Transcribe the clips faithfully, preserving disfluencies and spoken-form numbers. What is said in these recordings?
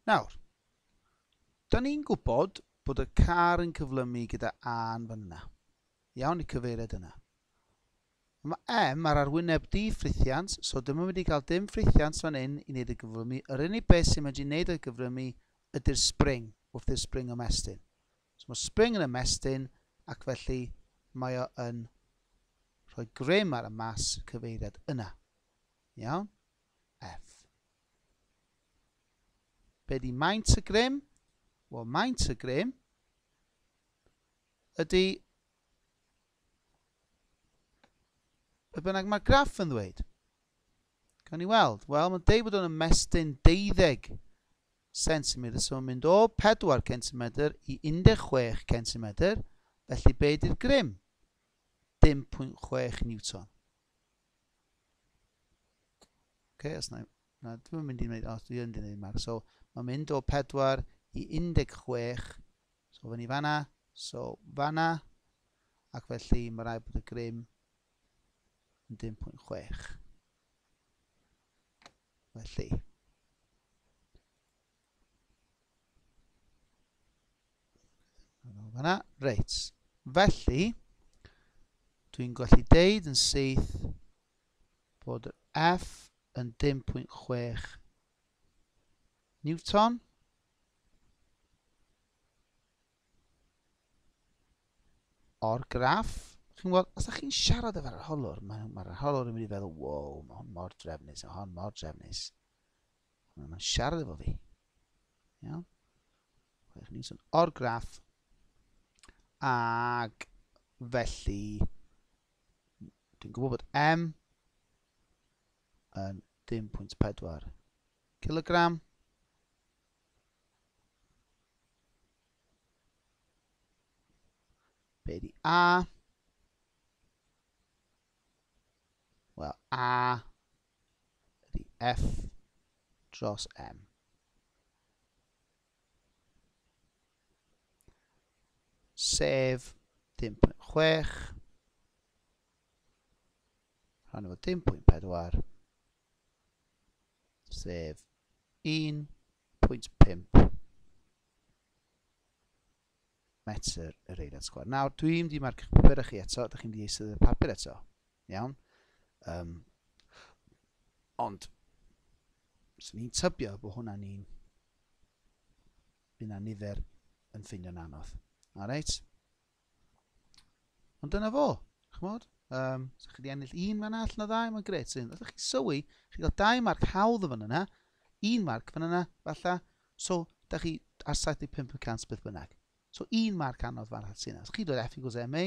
Nawr, da ni'n gwybod bod y car yn cyflymu gyda A yn fan yna. Iawn, i cyfeiriad yna. Mae M ar arwyneb di-ffrithiant, so dim yn mynd i gael dim ffrithiant fan hyn i wneud y gyflymu. Yr unig beth sy'n mynd i wneud y gyflymu ydy'r spring, wrth i'r spring ymestyn. So mae spring yn ymestyn, ac felly mae o yn rhoi grym ar y mas cyfeiriad yna. Iawn? F. Be di maint y grym? Wel, maint y grym ydy be bynnag mae'r graff yn ddweud. Gawn ni weld. Wel, mae'n deud bod o'n ymestyn deuddeg centimetr, so mae'n mynd o pedwar centimetr i un deg chwech centimetr, felly be di'r grym? Dim pwynt chwech Newton. Okay, os na, na, dwi'n mynd i wneud, o, dwi yn mynd i wneud marc. So, mae'n mynd o pedwar i un deg chwech, so fyny fanna, so fanna, ac felly mae rhaid bod y grym yn dim pwynt chwech. Felly, fanna, reit. Felly, dwi'n gallu deud yn syth bod yr F yn dim pwynt chwech Newton. O'r graff, chi'n gweld, os ydych chi'n siarad efo'r arholwr, mae'r ma arholwr yn mynd i feddwl, wow, mae hwn mor drefnus, mae hwn mor drefnus. Mae'n siarad efo fi. Iawn? Chwech Newton o'r graff. Ac felly, dwi'n gwybod bod M yn dim pwynt pedwar kilogram. Be di A? Wel, A ydy F dros M. Sef dim pwynt chwech rhan efo dim pwynt pedwar, sef un pwynt pump metr yr eiliad sgwâr. Nawr, dwi'n mynd i marcio'ch papur chi eto, ydych chi'n mynd i eistedd y papur eto. Iawn? Um, ond, swn i'n tybio bod hwnna'n un, bydd 'na nifer yn ffeindio'n anodd. Alright? Ond dyna fo, ch'mod? Um, so chi wedi ennill un fan allan o ddau, mae'n grêt. So, os ydych chi'n sylwi, chi gael dau marc hawdd fan yna, un marc fan yna, falle. So, da chi ar saith deg pump y cant beth bynnag. So, un marc anodd fan allan. Os chi dweud F equals M A,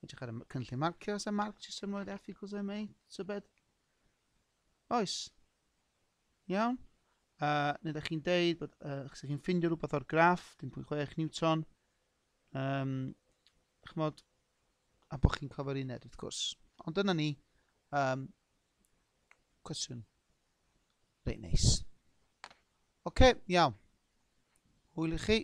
edrych ar y cynllun marcio, os y marc jyst yn rhoi F equals M A, tybed? Oes. Iawn. Uh, neu ydych chi'n deud bod uh, chi'n ffindio rhywbeth o'r graff, dim pwynt chwech Newton. Um, ch'mod, a bod chi'n cofio'r uned, wrth gwrs. Ond dyna ni, um, cwestiwn reit neis. Oce, okay, iawn. Hwyl i chi.